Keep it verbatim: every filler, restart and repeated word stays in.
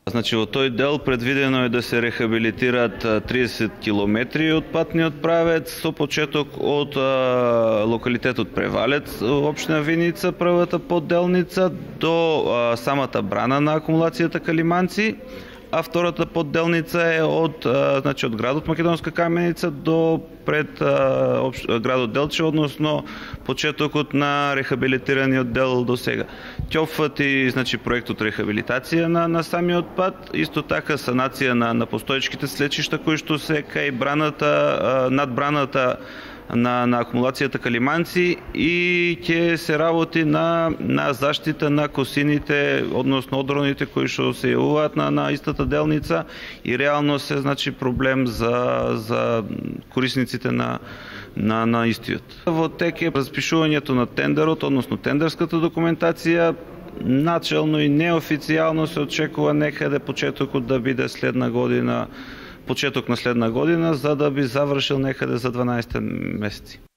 Значи, во тој дел предвидено е да се рехабилитираат триесет километри од патниот правец со почеток од а, локалитетот Превалец, општина Виница, првата подделница до а, самата брана на акумулацијата Калиманци, а втората подделница е од а, значи од градот Македонска Каменица до пред а, общ, градот Делче, односно почетокот на рехабилитираниот дел до сега. Ќе опфати значи проектот рехабилитација на на самиот пат, исто така санација на на постоечките слечишта кои што се кај браната, над браната на на акумулацијата Калиманци, и ќе се работи на на заштита на косините, односно одроните кои што се јавуваат на на истата делница, и реално се значи проблем за за корисниците на на на истиот. Во тек е распишувањето на тендерот, односно тендерската документација. Начелно и неофицијално се очекува некаде почетокот да биде следна година, почеток на следна година, за да би завршил некаде за дванаесет месеци.